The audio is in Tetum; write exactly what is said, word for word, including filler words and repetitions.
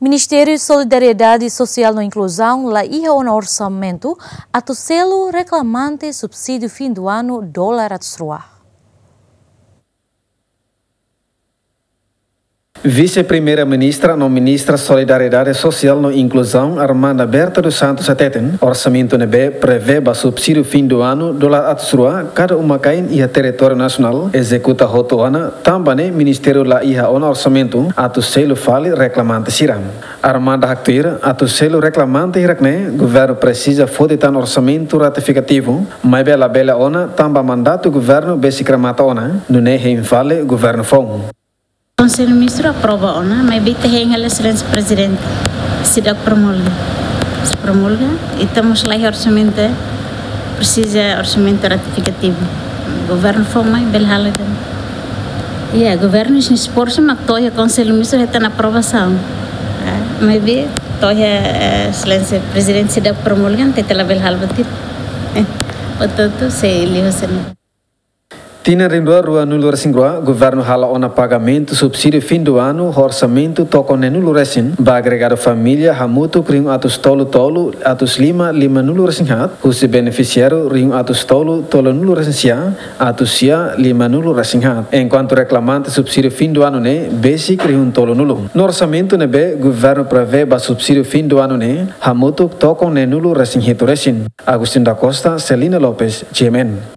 Ministériu Solidariedade Sosiál no Inkluzaun la iha ona orsamentu atu selu reklamante subsídiu fim do ano dolar atus rua. Vise-Primeira-Ministra no Ministra Solidariedade Sosiál no Inkluzaun, Armanda Berta dos Santos, hateten orsamentu ne'ebé prevee ba subsídiu fim do ano dolar atus rua kada uma-kain iha territóriu nasionál ezekuta hotu ona, tanba ne'e ministériu la iha ona orsamentu atu selu fali reklamante sira. Armanda haktuir, atu selu reklamante hirak-ne'e, governu presiza foti tan orsamentu ratifikativu, maibé labele ona tanba mandatu governu besik remata ona, nune'e hein fali governu foun. Konsellu Ministru aprova ona, maibé ita hein hela Exelénsia Prezidente seidauk promulga. Se promulga, ita mós la iha orsamentu, presiza orsamentu ratifikativu. Governu foun mai bele halo tan. Ya, governu sei esforsu mak to'o iha Konsellu Ministru hetan aprovasaun. Ah, maibé to'o iha, eh, Exelénsia Prezidente seidauk promulga, ita labele halo buat ida. Eh, portantu, sei liu hanesan ne'e. Tinan rihun rua ruanulu-resin-rua, governu hala'o ona pagamentu subsídiu fim do ano ho orsamentu tokon neenulu-resin ba agregadu família hamutuk rihun atus tolu tolu, atus lima limanulu-resin-haat, husi benefisiáriu rihun atus tolu tolunulu-resin-sia, atus sia limanulu-resin-haat. Enkuantu reklamante subsídiu fim do ano ne'e besik rihun tolunulu. No orsamentu ne'ebé governu prevee ba subsídiu fim do ano ne'e, hamutuk tokon neenulu-resin-hitu-resin. Agostinho da Costa, Celina Lopes, G M N.